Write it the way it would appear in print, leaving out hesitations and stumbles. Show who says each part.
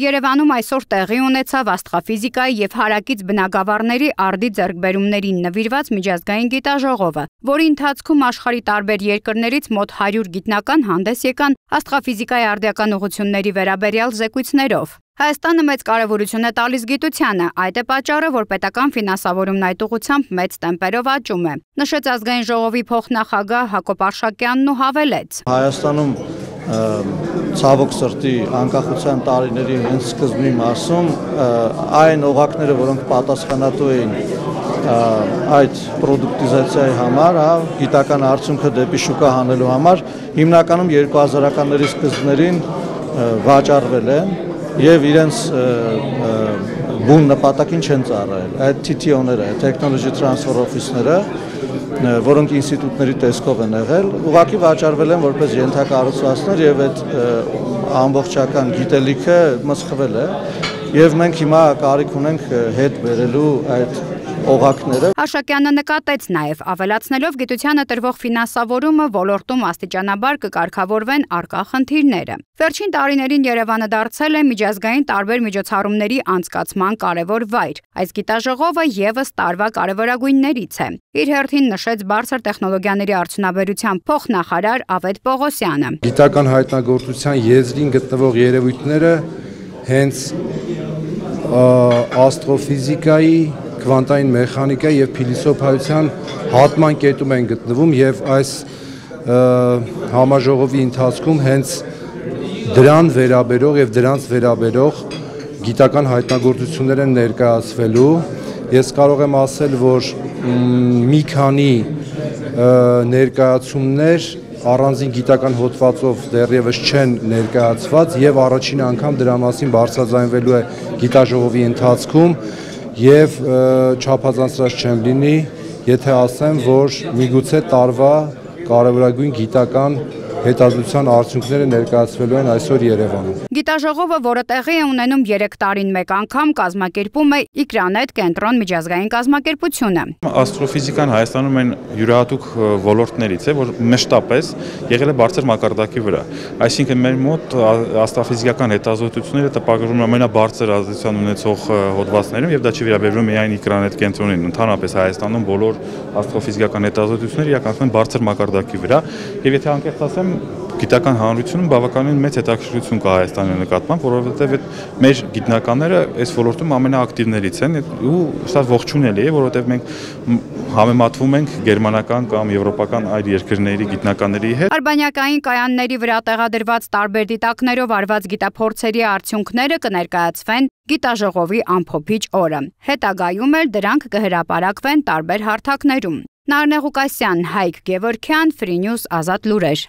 Speaker 1: Երևանում այսօր տեղի ունեցավ աստղաֆիզիկայի և հարակից բնագավառների արդի ձեռքբերումներին նվիրված միջազգային գիտաժողովը, որի ընթացքում աշխարհի տարբեր երկրներից մոտ 100 գիտնական հանդես եկան աստղաֆիզիկայի արդիական ուղղությունների վերաբերյալ զեկույցներով։ Հայաստանը մեծ կարևորություն է տալիս գիտությանը, այդ է պատճառը, որ պետական ֆինանսավորումն այդ ուղղությամբ մեծ տեմպերով աճում է, նշեց ազգային ժողովի փոխնախագահ Հակոբ Արշակյանն ու հավելեց.
Speaker 2: Հայաստանում ցավոք սրտի անկախության տարիների հենց սկզբի մասում այն օղակները, որոնք պատասխանատու էին այդ պրոդուկտիզացիայի համար, գիտական արդյունքը դեպի շուկա հանելու համար, հիմնականում 2000-ականների սկզբներին վաճառվել են եւ իրենց բուն նպատակին չեն ծառայել։ Այդ TTO-ները, Technology Transfer Office-ները, որոնք ինստիտուտների տեսքով են եղել, ուղղակի վաճառվել են որպես ենթակառուցվածքներ եւ այդ ամբողջական գիտելիքը մսխվել է եւ մենք հիմա կարիք ունենք հետ բերելու այդ օղակները։
Speaker 1: Արշակյանը նկատեց նաև, ավելացնելով գիտությանը տրվող ֆինանսավորումը ոլորտում աստիճանաբար կկարգավորվեն առկա խնդիրները։ Վերջին տարիներին Երևանը դարձել է միջազգային տարբեր միջոցառումների անցկացման կարևոր վայր։ Այս գիտաժողովը եւս տարվա կարևորագույններից է։ Իր հերթին նշեց բարձր տեխնոլոգիաների արդյունաբերության փոխնախարար Ավետ Պողոսյանը։
Speaker 3: Գիտական հայտնագործության եզրին գտնվող երևույթները հենց աստրոֆիզիկայի, քվանտային մեխանիկայի եւ փիլիսոփայության հատման կետում են գտնվում եւ այս համաժողովի ընթացքում հենց դրան վերաբերող եւ դրանց վերաբերող գիտական հայտնագործություններ են ներկայացվելու։ Ես կարող եմ ասել, որ մի քանի ներկայացումներ առանձին գիտական հոդվածով դեռևս չեն ներկայացված եւ առաջին անգամ դրա մասին բարձրաձայնվելու է գիտաժողովի ընթացքում եւ չափազանցրած չեմ լինի, եթե ասեմ, որ միգուցե տարվա կարևորագույն գիտական հետազոտության արդյունքները ներկայացվելու են այսօր Երևանում։
Speaker 1: Գիտաժողովը, որը տեղի է ունենում 3 տարին մեկ անգամ, կազմակերպում է Իքրանետ կենտրոն միջազգային կազմակերպությունը։
Speaker 4: Աստրոֆիզիկան Հայաստանում այն յուրահատուկ ոլորտներից է, որ մշտապես եղել է բարձր մակարդակի վրա։ Այսինքն մեր մոտ աստրոֆիզիկական հետազոտությունները տպագրվում են ամենաբարձր ազդեցություն ունեցող հոդվածներում եւ դա չի վերաբերվում միայն Իքրանետ կենտրոնին, ընդհանրապես Հայաստանում բոլոր աստրոֆիզիկական հետազոտությունները իրականացվում են բարձր մակարդակի վրա եւ եթե անկեղծ ասեմ գիտական հանրությունում բավականին մեծ հետաքրքրություն կա Հայաստանի նկատմամբ, որովհետև մեր գիտնականները այս ոլորտում ամենաակտիվներից են ու սա ողջունելի է, որովհետև մենք համեմատվում ենք գերմանական կամ եվրոպական այլ երկրների գիտնականների հետ։
Speaker 1: Արբանյակային կայանների վրա տեղադրված տարբեր դիտակներով արված գիտափորձերի արդյունքները կներկայացվեն գիտաժողովի ամփոփիչ օրը։ Հետագայում էլ դրանք կհրապարակվեն տարբեր հարթակներում։ Նարնե Ղուկասյան, Հայկ Գևորգյան, Free News Ազատ լուրեր։